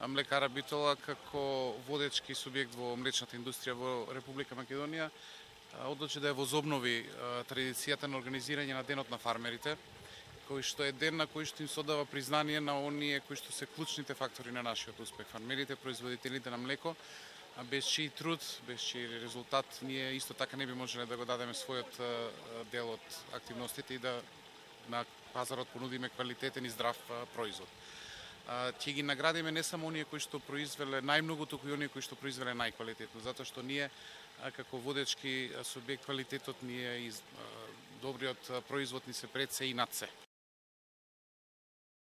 Млекара Битола како водечки субјект во млечната индустрија во Република Македонија одлучи да ја возобнови традицијата на организирање на Денот на фармерите, кој што е ден на кој што им се оддава признание на оние кои што се клучните фактори на нашиот успех. Фармерите, производителите на млеко, без чиј труд, без чиј резултат, ние исто така не би можеле да го дадеме својот дел од активностите и да на пазарот понудиме квалитетен и здрав производ. Ќе ги наградиме не само оние кои што произвеле најмногу, туку и оние кои што произвеле најквалитетно, затоа што ние како водечки субјект квалитетот ни е добриот производ ни се пред се и над се.